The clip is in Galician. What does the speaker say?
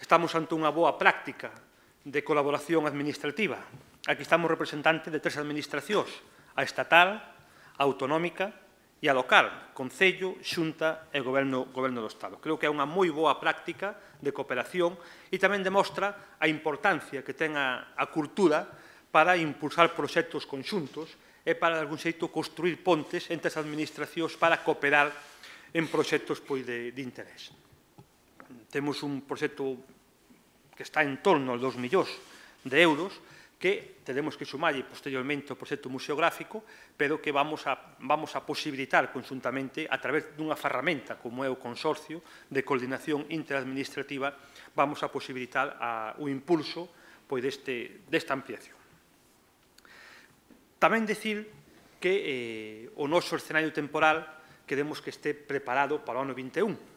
estamos ante unha boa práctica de colaboración administrativa. Aquí estamos representantes de 3 administracións, a estatal, a autonómica e a local, Concello, Xunta e Goberno do Estado. Creo que é unha moi boa práctica de cooperación e tamén demostra a importancia que ten a cultura para impulsar proxectos conxuntos e para, de algún xeito, construir pontes entre as administracións para cooperar en proxectos de interés. Temos un proxecto que está en torno aos 2 millóns de euros, que teremos que sumarlle posteriormente o proxecto museográfico, pero que vamos a posibilitar conxuntamente, a través dunha ferramenta como é o Consorcio de Coordinación Interadministrativa, vamos a posibilitar o impulso desta ampliación. Tamén dicir que o noso escenario temporal queremos que este preparado para o ano 21.